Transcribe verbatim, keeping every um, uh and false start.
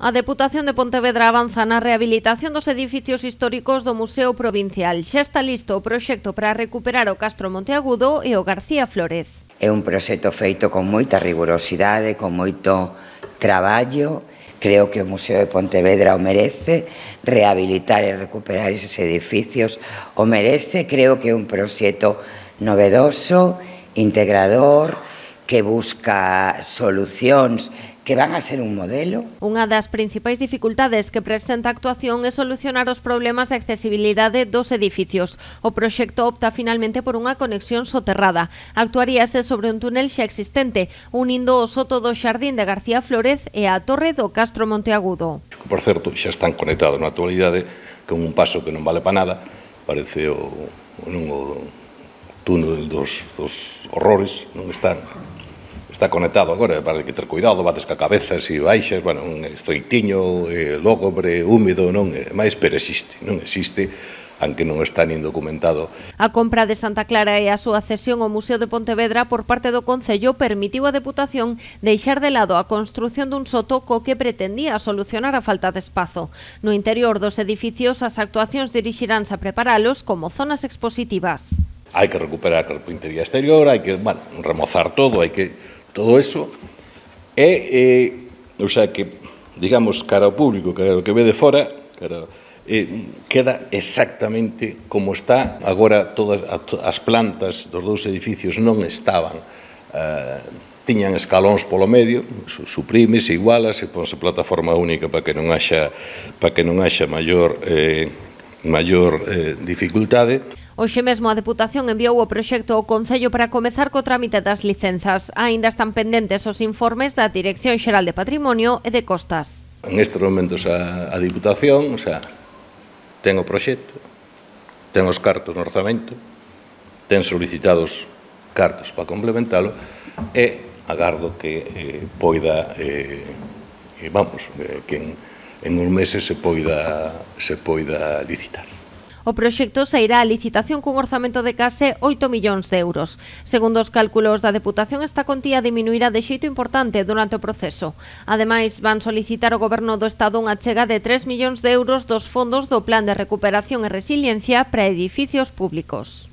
A Deputación de Pontevedra avanza na rehabilitación dos edificios históricos do Museo Provincial. Xa está listo o proxecto para recuperar o Castro Monteagudo e o García Flórez. É un proxecto feito con moita rigurosidade, con moito traballo. Creo que o Museo de Pontevedra o merece, rehabilitar e recuperar eses edificios o merece. Creo que é un proxecto novedoso, integrador, que busca solucións que van a ser un modelo. Unha das principais dificultades que presenta a actuación é solucionar os problemas de accesibilidade dos edificios. O proxecto opta finalmente por unha conexión soterrada. Actuaríase sobre un túnel xa existente, unindo o soto do Xardín de García Flórez e a torre do Castro Monteagudo. Por certo, xa están conectados na actualidade con un paso que non vale para nada. Parece o, non, o túnel dos, dos horrores, non están. Está conectado agora, para que ter cuidado, bates ca cabeza e baixas, bueno, un estreitiño, eh, lógobre, húmido, non é máis, pero existe, non existe, aunque non está nin documentado. A compra de Santa Clara e a súa cesión ao Museo de Pontevedra por parte do Concello permitiu a Deputación deixar de lado a construción dun soto co que pretendía solucionar a falta de espazo. No interior dos edificios, as actuacións dirixiránse a preparalos como zonas expositivas. Hai que recuperar a carpintería exterior, hai que, bueno, remozar todo, hai que... Todo eso é, eh, o sea, que, digamos, cara ao público, cara ao que ve de fora, cara, eh, queda exactamente como está. Agora todas as plantas dos dous edificios non estaban, eh, tiñan escalóns polo medio, suprímese, igualase, ponse plataforma única para que non haxa, para que non haxa maior, eh, maior eh, dificultade. Hoxe mesmo a Deputación enviou o proxecto ao Concello para comezar co trámite das licenzas. Aínda están pendentes os informes da Dirección Xeral de Patrimonio e de Costas. En estes momentos a, a Diputación, o sea, ten o proxecto, ten os cartos no orzamento, ten solicitados cartos para complementalo e agardo que eh, poida, eh, vamos, eh, que en, en uns meses se poida, se poida licitar. O proxecto sairá a licitación cun orzamento de case oito millóns de euros. Segundo os cálculos da Deputación, esta contía diminuirá de xeito importante durante o proceso. Ademais, van solicitar ao Goberno do Estado unha achega de tres millóns de euros dos fondos do Plan de Recuperación e Resiliencia para edificios públicos.